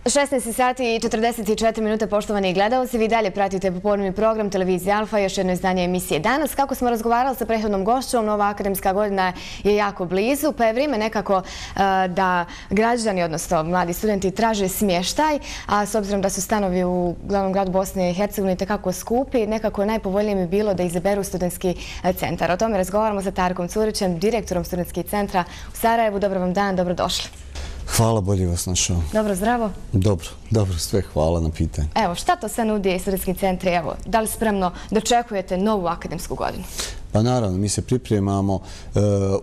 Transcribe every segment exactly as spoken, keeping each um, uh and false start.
šesnaest sati i četrdeset četiri minute, poštovani gledalci. Vi dalje pratite popodnevni program televizije Alfa, još jedno izdanje emisije Danas. Kako smo razgovarali sa prethodnom gošćom, nova akademska godina je jako blizu, pa je vrijeme nekako da građani, odnosno mladi studenti, traže smještaj, a s obzirom da su stanovi u glavnom gradu Bosne i Hercegovine tekako skupi, nekako najpovoljnije mi bilo da izaberu studentski centar. O tome razgovaramo sa Tarkom Curićem, direktorom studentskih centra u Sarajevu. Dobar vam dan, dobrodošli. Hvala, bolje vas našao. Dobro, zdravo? Dobro, dobro, sve hvala na pitanju. Evo, šta to sve nudi studentski centri? Evo, da li spremno dočekujete novu akademsku godinu? Pa naravno, mi se pripremamo,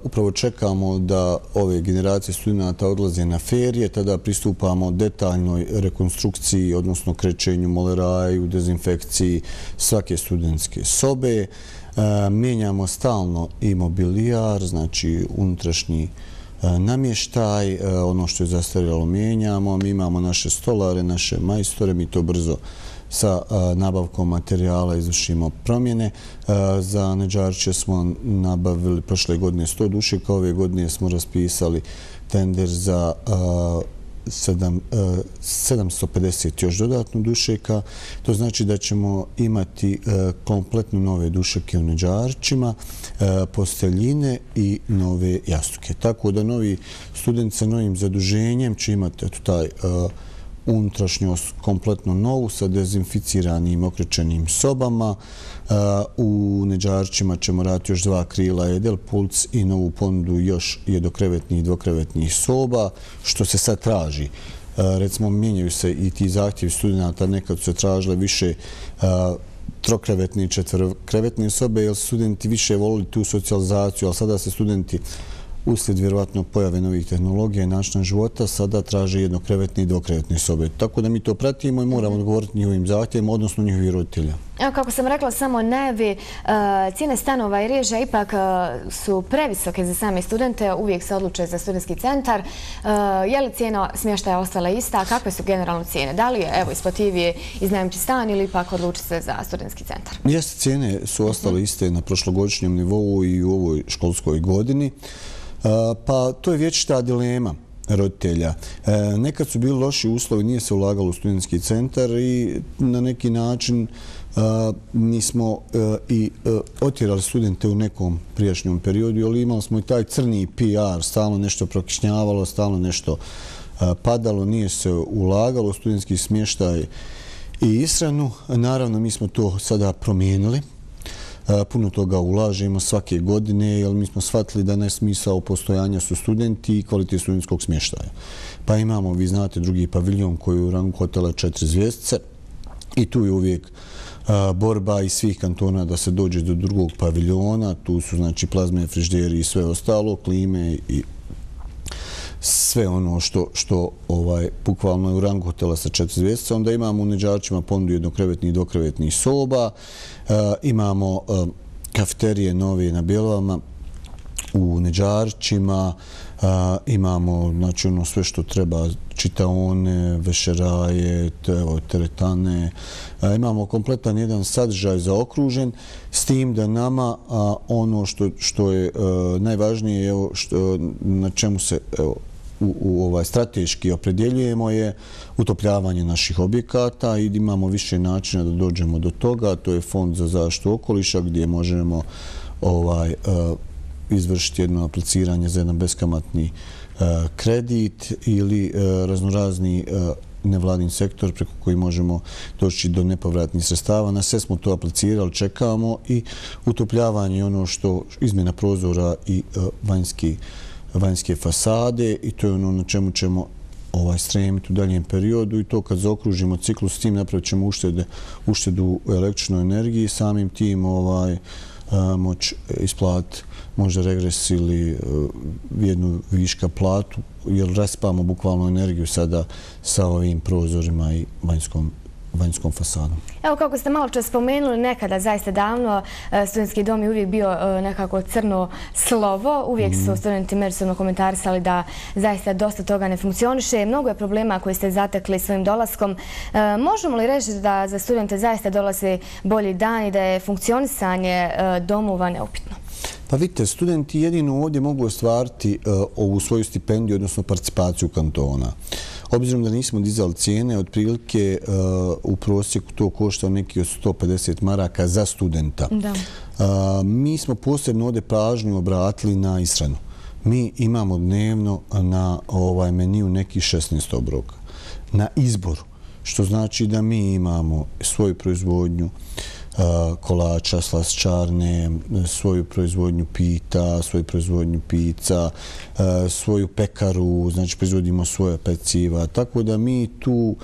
upravo čekamo da ove generacije studenta odlaze na ferije, tada pristupamo detaljnoj rekonstrukciji, odnosno krećenju, moleraju, dezinfekciji svake studentske sobe. Mijenjamo stalno i mobilijar, znači unutrašnji namještaj, ono što je zastarjelo mijenjamo. Mi imamo naše stolare, naše majstore, mi to brzo sa nabavkom materijala izvršimo promjene. Za Neđarče smo nabavili prošle godine sto dušeka, ove godine smo raspisali tender za sedamsto pedeset još dodatno dušeka. To znači da ćemo imati kompletno nove dušeke u Neđarčima, posteljine i nove jastuke. Tako da novi studenti sa novim zaduženjem će imati taj unutrašnjost kompletno novu sa dezinficiranim okrećenim sobama. U Neđarčima ćemo raditi još dva krila Edel Puls i novu ponudu još jednokrevetnih i dvokrevetnih soba, što se sad traži. Recimo, mijenjaju se i ti zahtjevi studenta, nekad su se tražile više trokrevetne i četvrokrevetne sobe, jer studenti više volili tu socijalizaciju, ali sada se studenti uslijed vjerovatno pojave novih tehnologija i načina života sada traže jednokrevetne i dvokrevetne sobe. Tako da mi to pratimo i moramo odgovoriti njihovim zahtjevima, odnosno njihovih roditelja. Evo, kako sam rekla, samo najavi, cijene stanova i režija ipak su previsoke za same studente, uvijek se odluče za studentski centar. Je li cijena smještaja ostala ista, a kakve su generalno cijene? Da li je, evo, isplativije iznajmiti stan ili ipak odlučiti se za studentski centar? Jeste, cijene su ostale iste na prošlogodišnjem nivou i u ovoj školskoj godini. Pa to je vječita dilema roditelja. Nekad su bili loši uslovi, nije se ulagalo u studentski centar i na neki način mi smo i otjerali studente u nekom prijašnjom periodu, ali imali smo i taj crni P R, stalno nešto prokišnjavalo, stalno nešto padalo, nije se ulagalo u studentski smještaj i ishranu. Naravno, mi smo to sada promijenili. Puno toga ulažemo svake godine, jer mi smo shvatili da najsmisao postojanja su studenti i kvalitet studentskog smještaja. Pa imamo, vi znate, drugi paviljon koji je u rangu hotela četiri zvjezdice i tu je uvijek borba iz svih kantona da se dođe do drugog paviljona. Tu su, znači, plazme, frižideri i sve ostalo, klime i sve ono što, što ovaj, bukvalno je u rangu hotela sa četiri zvjezdice. Onda imamo u Neđarčima ponudu jednokrevetnih i dvokrevetnih soba. E, imamo e, kafeterije nove na Bjelovama u Neđarčima. E, imamo, znači, ono sve što treba, čitaone, vešeraje, evo, teretane. E, imamo kompletan jedan sadržaj zaokružen, s tim da nama a, ono što, što je a, najvažnije, evo, što, na čemu se evo, u, u ovaj strateški opredjeljujemo je utopljavanje naših objekata i imamo više načina da dođemo do toga. To je Fond za zaštitu okoliša gdje možemo ovaj, a, izvršiti jedno apliciranje za jedan beskamatni a, kredit ili a, raznorazni a, nevladin sektor preko koji možemo doći do nepovratnih sredstava. Na sve smo to aplicirali, čekamo i utopljavanje ono što izmjena prozora i uh, vanjski, vanjske fasade i to je ono na čemu ćemo ovaj, stremiti u daljem periodu i to kad zaokružimo ciklus s tim napravit ćemo uštede, uštedu u električnoj energiji, samim tim ovaj, uh, moći isplatiti možda regres ili uh, jednu viška platu, jer raspamo bukvalno energiju sada sa ovim prozorima i vanjskom, vanjskom fasadom. Evo, kako ste malo čas spomenuli, nekada, zaista davno, studentski dom je uvijek bio nekako crno slovo. Uvijek su studenti međusobno komentarisali da zaista dosta toga ne funkcioniše. Mnogo je problema koji ste zatekli svojim dolaskom. Možemo li reći da za studente zaista dolaze bolji dan i da je funkcionisanje domova neupitno? Pa vidite, studenti jedino ovdje mogu ostvariti ovu svoju stipendiju, odnosno participaciju kantona. Obzirom da nismo dizali cijene, otprilike u prosjeku to košta neki od sto pedeset maraka za studenta. Mi smo posebno ovdje pažnju obratili na ishranu. Mi imamo dnevno na ovaj meniju neki šesnaest obroka. Na izboru, što znači da mi imamo svoju proizvodnju kolača, slastičarne, svoju proizvodnju pita, svoju proizvodnju pizza, svoju pekaru, znači proizvodimo svoje peciva. Tako da mi tu,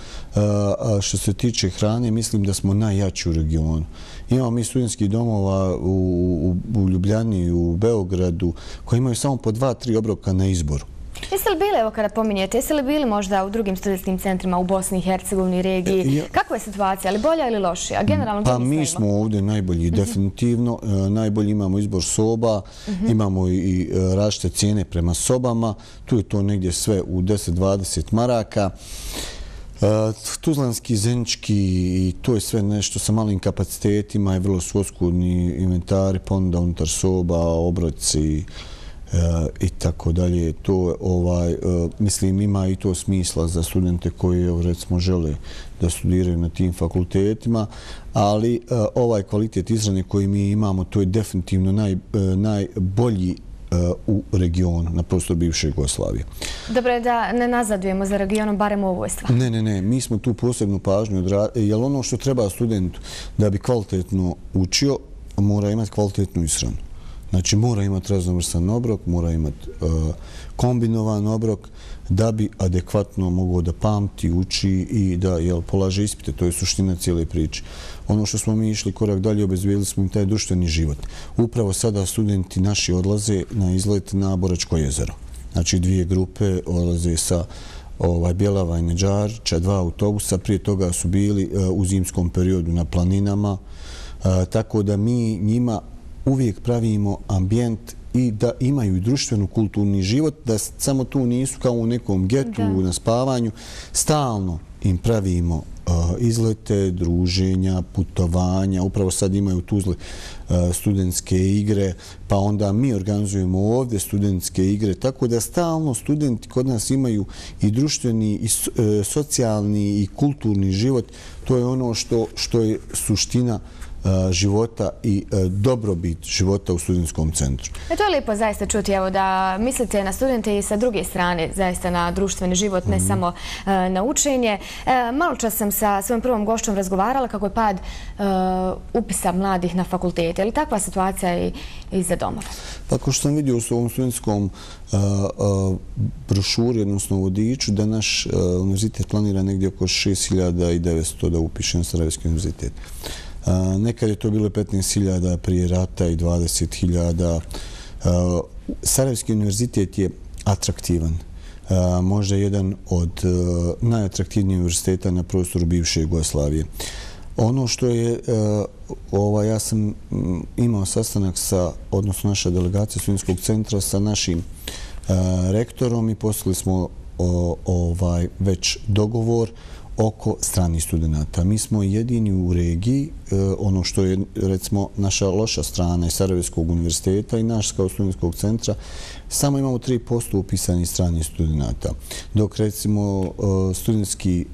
što se tiče hrane, mislim da smo najjači u regionu. Imamo mi studentskih domova u, u, u Ljubljani i u Beogradu koji imaju samo po dva, tri obroka na izboru. Jeste li bili, evo kada pominjete, jeste li bili možda u drugim studentskim centrima u Bosni i Hercegovini, regiji? Kakva je situacija? Ali bolja ili lošija? Generalno, pa mi smo ovdje najbolji, definitivno. Najbolji imamo izbor soba, imamo i različite cijene prema sobama. Tu je to negdje sve u deset do dvadeset maraka. Tuzlanski, Zenički i to je sve nešto sa malim kapacitetima i vrlo su oskudni inventari, pa onda unutar soba, obroci i tako dalje. To ovaj mislim ima i to smisla za studente koji recimo žele da studiraju na tim fakultetima, ali ovaj kvalitet izrane koji mi imamo, to je definitivno naj, najbolji u regionu, na prostoru bivše Jugoslavije. Dobro je da ne nazadujemo za regionom, barem u ovoj stvari. Ne, ne, ne. Mi smo tu posebnu pažnju odradili, jer ono što treba studentu da bi kvalitetno učio, mora imati kvalitetnu ishranu. Znači, mora imati raznovrstan obrok, mora imati uh, kombinovan obrok da bi adekvatno mogao da pamti, uči i da jel, polaže ispite. To je suština cijele priče. Ono što smo mi išli korak dalje, obezbijedili smo im taj društveni život. Upravo sada studenti naši odlaze na izlet na Boračko jezero. Znači, dvije grupe odlaze sa ovaj, Bjelava i Neđarića, dva autobusa. Prije toga su bili uh, u zimskom periodu na planinama. Uh, tako da mi njima uvijek pravimo ambijent i da imaju društvenu kulturni život, da samo tu nisu kao u nekom getu, na spavanju. Stalno im pravimo uh, izlete, druženja, putovanja. Upravo sad imaju u Tuzli uh, studentske igre, pa onda mi organizujemo ovdje studentske igre. Tako da stalno studenti kod nas imaju i društveni, i uh, socijalni, i kulturni život. To je ono što, što je suština života i dobrobit života u studentskom centru. E, to je lijepo zaista čuti, evo, da mislite na studente i sa druge strane zaista na društveni život, ne mm-hmm. samo e, na učenje. E, malo čas sam sa svojom prvom gošćom razgovarala kako je pad e, upisa mladih na fakultete. Je li takva situacija i, i za domove? Pa kao što sam vidio u ovom studentskom a, a, brošuri, odnosno vodiču, da naš a, univerzitet planira negdje oko šest hiljada devetsto da upiše na Sarajevski univerzitet. Nekad je to bilo petnaest hiljada prije rata i dvadeset hiljada. Sarajevski univerzitet je atraktivan. Možda jedan od najatraktivnijih univerziteta na prostoru bivše Jugoslavije. Ono što je, ova, ja sam imao sastanak sa, odnosno naša delegacija studentskog centra sa našim rektorom i poslali smo ovaj, već dogovor oko stranih studenta. Mi smo jedini u regiji, ono što je recimo naša loša strana iz Sarajevskog univerziteta i naš kao studentskog centra, samo imamo tri posto upisanih stranih studenta. Dok recimo studentski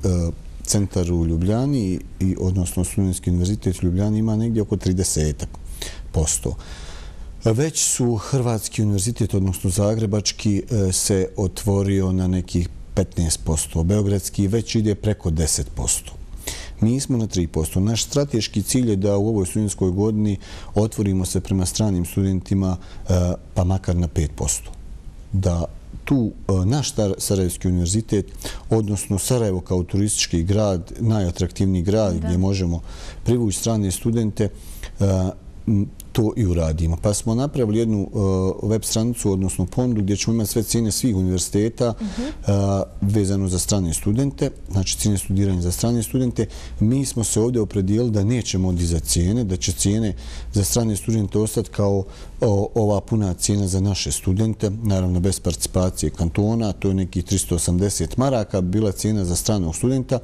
centar u Ljubljani, i, odnosno studentski univerzitet u Ljubljani ima negdje oko trideset posto. Već su Hrvatski univerzitet, odnosno Zagrebački, se otvorio na nekih petnaest posto. Beogradski već ide preko deset posto. Mi smo na tri posto. Naš strateški cilj je da u ovoj studentskoj godini otvorimo se prema stranim studentima pa makar na pet posto. Da tu naš Sarajevski univerzitet, odnosno Sarajevo kao turistički grad, najatraktivniji grad gdje možemo privući strane studente, to i uradimo. Pa smo napravili jednu uh, web stranicu, odnosno ponudu, gdje ćemo imati sve cijene svih univerziteta uh-huh. uh, vezano za strane studente, znači cijene studiranja za strane studente. Mi smo se ovdje opredijelili da nećemo dizati cijene, da će cijene za strane studente ostati kao o, ova puna cijena za naše studente, naravno bez participacije kantona, to je nekih tristo osamdeset maraka, bila cijena za stranog studenta.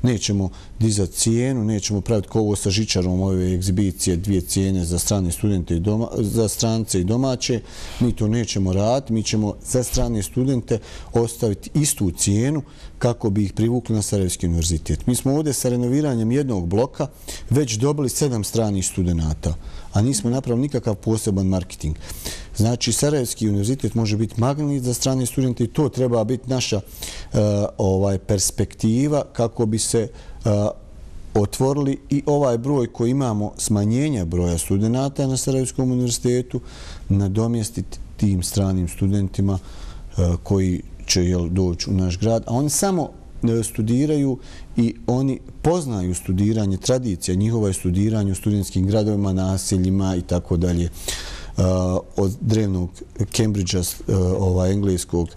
Nećemo dizati cijenu, nećemo praviti kao ovo sa žičarom ove egzibicije, dvije cijene za strane studente i doma, za strance i domaće. Mi to nećemo raditi, mi ćemo za strane studente ostaviti istu cijenu kako bi ih privukli na Sarajevski univerzitet. Mi smo ovdje sa renoviranjem jednog bloka već dobili sedam stranih studenata, a nismo napravili nikakav poseban marketing. Znači, Sarajevski univerzitet može biti magnet za strane studente i to treba biti naša uh, ovaj, perspektiva kako bi se uh, otvorili i ovaj broj koji imamo smanjenja broja studenata na Sarajevskom univerzitetu nadomjestiti tim stranim studentima uh, koji će jel, doći u naš grad, a oni samo studiraju i oni poznaju studiranje, tradicija njihova je studiranje u studentskim gradovima, naseljima i tako dalje. Od drevnog Cambridgea, ovaj, engleskog,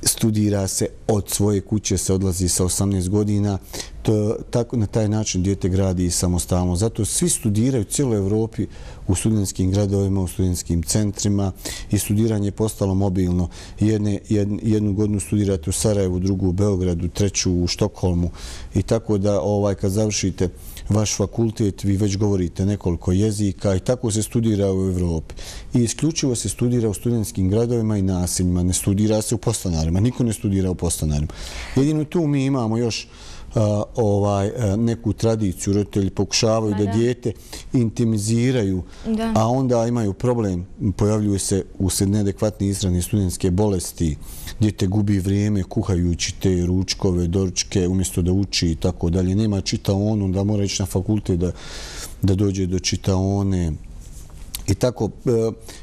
studira se od svoje kuće, se odlazi sa osamnaest godina. To, tako, na taj način dijete gradi i samostalno. Zato svi studiraju u cijeloj Evropi u studentskim gradovima, u studentskim centrima i studiranje je postalo mobilno. Jedne, jed, jednu godinu studirate u Sarajevu, drugu u Beogradu, treću u Štokholmu i tako da ovaj, kad završite vaš fakultet, vi već govorite nekoliko jezika i tako se studira u Evropi. I isključivo se studira u studentskim gradovima i naseljima, ne studira se u podstanarima, niko ne studira u podstanarima. Jedino tu mi imamo još Uh, ovaj, uh, neku tradiciju, roditelji pokušavaju da, da dijete intimiziraju, da. A onda imaju problem, pojavljuju se usred neadekvatne ishrane studentske bolesti, dijete gubi vrijeme kuhajući te ručkove, doručke, umjesto da uči i tako dalje. Nema čitaonu, da mora ići na fakultet da, da dođe do čitaone. I tako,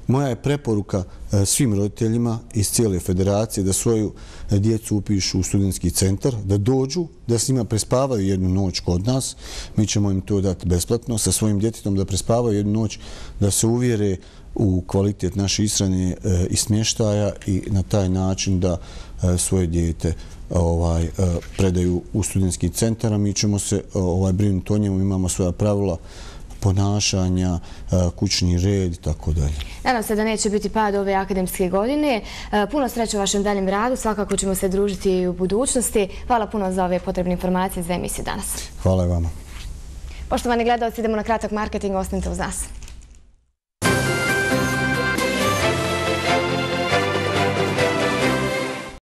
moja je preporuka svim roditeljima iz cijele federacije da svoju djecu upišu u studentski centar, da dođu, da s njima prespavaju jednu noć kod nas. Mi ćemo im to dati besplatno, sa svojim djetetom da prespavaju jednu noć, da se uvjere u kvalitet naše ishrane i smještaja i na taj način da svoje dijete ovaj, predaju u studentski centar. Mi ćemo se ovaj, brinuti o njemu, imamo svoja pravila ponašanja, kućni red i tako dalje. Nadam se da neće biti pad ove akademske godine. Puno sreće u vašem daljem radu. Svakako ćemo se družiti i u budućnosti. Hvala puno za ove potrebne informacije za emisiju danas. Hvala i vama. Poštovani gledalci, idemo na kratak marketing. Ostanite uz nas.